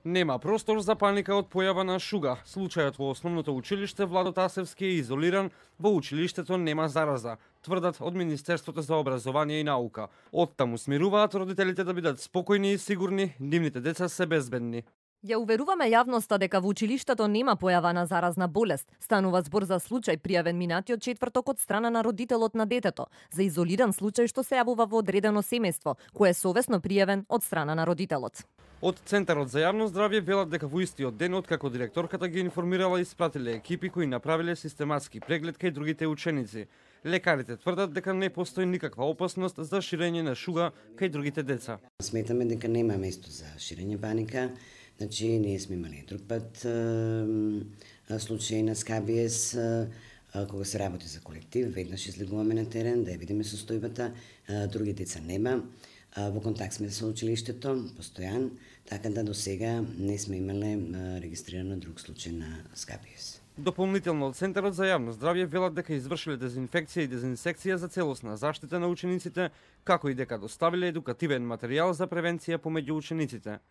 Нема простор за паника од појава на шуга. Случајот во основното училиште Владо Тасевски е изолиран, во училиштето нема зараза, тврдат од Министерството за образование и наука. Оттаму смируваат родителите да бидат спокојни и сигурни, нивните деца се безбедни. Ја уверуваме јавноста дека во училиштето нема појава на заразна болест. Станува збор за случај пријавен минатиот четврток од страна на родителот на детето, за изолиран случај што се јавува во одредено семејство, кој е совесно пријавен од страна на родителот. Од Центарот за јавно здравје велат дека во истиот ден откако директорката ги информирала испратиле екипи кои направиле систематски преглед кај другите ученици. Лекарите тврдат дека не постои никаква опасност за ширење на шуга кај другите деца. Сметаме дека нема место за ширење паника. Значи, ние сме имали друг пат случаи на скабиес, кога се работи за колектив, веднаш излегуваме на терен, да ја видиме состојбата, други деца нема. Во контакт сме со училиштето, постојан, така да до сега не сме имале регистрирано друг случај на скабиес. Дополнително од Центарот за јавно здравје велат дека извршиле дезинфекција и дезинсекција за целосна заштита на учениците, како и дека доставиле едукативен материјал за превенција помеѓу учениците.